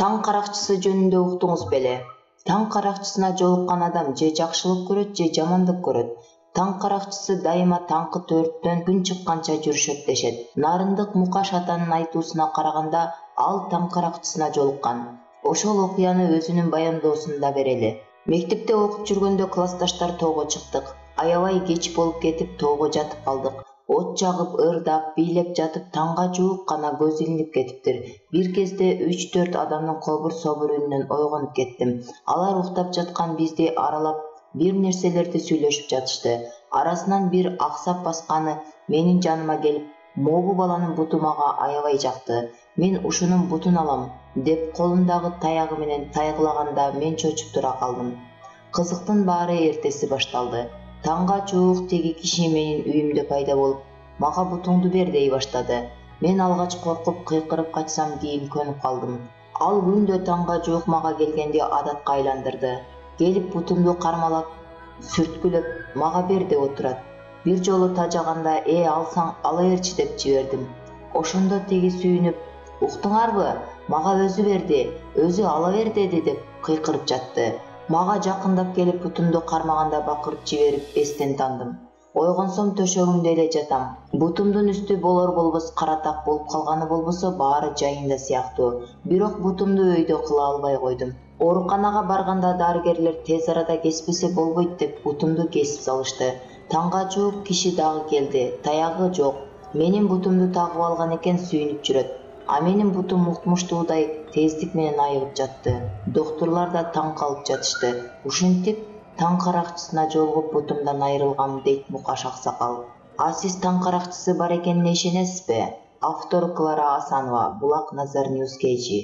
Таң каракчысы жөнүндө уктуңуз беле? Таң каракчысына жолуккан адам же жакшылык көрөт, же жамандык көрөт. Таң каракчысы дайыма таңкы 4-төн күн чыкканча жүрүшөт дешет. Нарындык Мукаш атанын айтуусуна караганда, ал таң каракчысына жолуккан. Ошол окуяны өзүнүн баяндоосунда берели. Мектепте окуп жүргөндө классташтар тоого чыктык. Аябай кеч болуп кетип тоого жатып калдык. От жагып, ырдап, бийлеп жатып таңга жуук гана көз илинип кетиптир. Бир кезде 3-4 адамдын кобур-собур үнүнөн ойгонуп кеттим. Алар уктап жаткан бизди аралап бир нерселерди сүйлөшүп жатышты. Арасынан бир аксап басканы менин жаныма келип, могу баланын буту мага аябай жакты. Мен ушунун бутун алам деп колундагы таягы менен тайгылаганда мен чочуп тура калдым. Кызыктын баары эртеси башталды. Таңга жуук теги киши менин үйүмдө пайда болуп, мага бутуңду бер дей баштады. Мен алгач коркуп, кыйкырып качсам кийин көнүп калдым. Ал күндө таңга жуук мага келгенди адатка айландырды. Келип бутумду кармалап, сүрткүлөп, мага бер деп отурат. Бир жолу тажаганда, алсаң ала берчи деп жибердим. Ошондо теги сүйүнүп, уктуңарбы? Мага өзү берди, өзү ала бер деди деп кыйкырып жатты. Мага жакындап келип бутумду кармаганда бакырып жиберип эстен тандым. Ойгонсом төшөгүмдө эле жатам. Бутумдун үстү болор-болбос кара так болуп калганы болбосо баары жайында сыяктуу. Бирок бутумду өйдө кыла албай койдум. Ооруканага барганда дарыгерлер тез арада кеспесе болбойт деп бутумду кесип салышты. Таңга жуук киши дагы келди. Таягы жок. Менин бутумду тагып алган экен, сүйүнүп жүрөт. А менин бутум укмуштуудай тездик менен айыгып жатты. Доктурлар да таң калып жатышты. Ушинтип таң каракчысына жолугуп бутумдан айрылгам, дейт Мукаш аксакал. А сиз таң каракчысы бар экенине ишенесизби? Автор Клара Асанова, Булак Назар Ньюс KG.